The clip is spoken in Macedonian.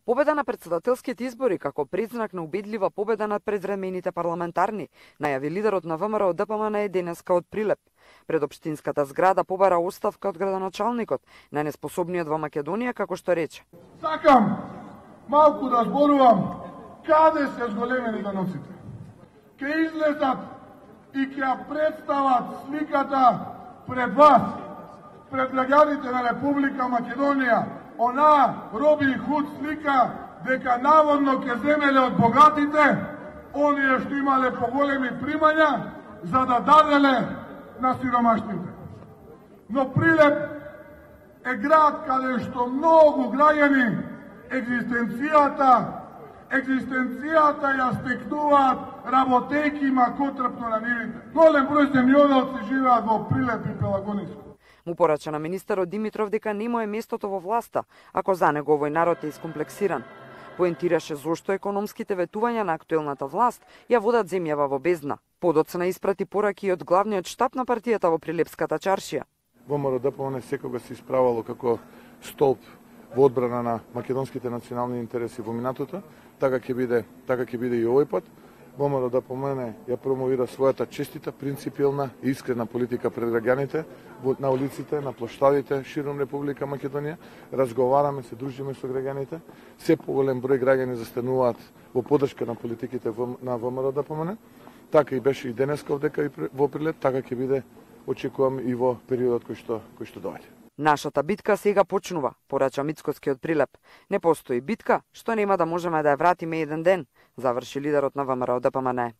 Победа на претседателските избори како предзнак на убедлива победа над предвремените парламентарни, најави лидерот на ВМРО ДПМН денеска од Прилеп. Пред општинската зграда побара оставка од градоначалникот, најнеспособниот во Македонија, како што рече. Сакам малку да зборувам каде се зголемените ноците. Ке излезат и ќе ја представат сликата пред вас, пред граѓаните на Република Македонија, она Робин Худ слика дека наводно ќе земеле од богатите, оние што имале поголеми примања, за да даделе на сиромашните. Но Прилеп е град каде што многу граѓани екзистенцијата ја стекнуваат работејки макотрпно на нивите. Голем број земјоделци живеат во Прилеп и Пелагониско. Му порача на министерот Димитров дека не му е местото во власта, ако за него овој народ е искомплексиран. Поентираше зошто економските ветувања на актуелната власт ја водат земјава во бездна. Подоцна испрати пораки од главниот штаб на партијата во Прилепската чаршија. ВМРО ДПМН секогаш се исправало како столб во одбрана на македонските национални интереси во минатото, така ќе биде и овој пат. ВМРО ДПМН ја промовира својата честита, принципилна и искрена политика пред граѓаните на улиците, на плоштадите широм Република Македонија. Разговараме, се дружиме со граѓаните. Се поголем број граѓани застануваат во поддршка на политиките на ВМРО ДПМН. Така и беше и денеска овдека и во Прилеп, така ќе биде, очекувам, и во периодот кој што доаѓа. Нашата битка сега почнува, порача Мицкоски од Прилеп. Не постои битка што нема да можеме да ја вратиме еден ден, заврши лидерот на ВМРО ДПМН.